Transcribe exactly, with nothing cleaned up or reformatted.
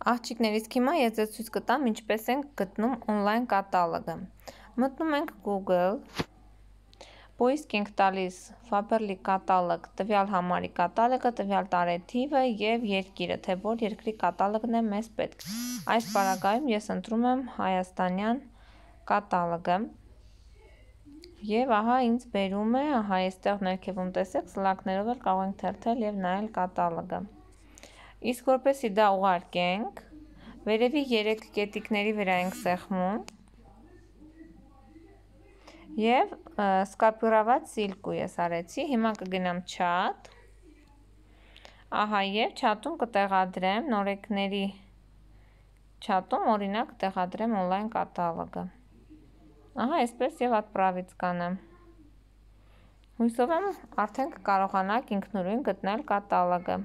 Աղջիկներից հիմա ես ձեզ ցույց կտամ ինչպես ենք գտնում on-line կատալոգը։ Մտնում ենք Google, պոիսկ ենք տալիս Faberlic կատալոգ, տվյալ համարի կատալոգը, տվյալ տարեթիվը և երկիրը, թե որ երկրի կատալոգն է մեզ պետք։ Այս պարագայում ես ընտրում եմ հայաստանյան կատալոգը և ահա ինձ բերում է, ահա այստեղ ներքևում տեսեք, սլակներով էլ կարող ենք թերթել և նայել կատալոգը։ Իսկ որպեսզի դա ուղարկենք, վերևի երեք կետիկների վրա ենք սեղմում և սկոպիրovat սիլկու ես արեցի, հիմա կգնամ chat, ահա և chat-ում կտեղադրեմ նորեկների chat-ում օրինակ կտեղադրեմ on-line կատալոգը, ահա այսպես և отправить կանեմ, հուսով եմ արդեն կկարողանաք ինքնուրույն գտնել կատալոգը։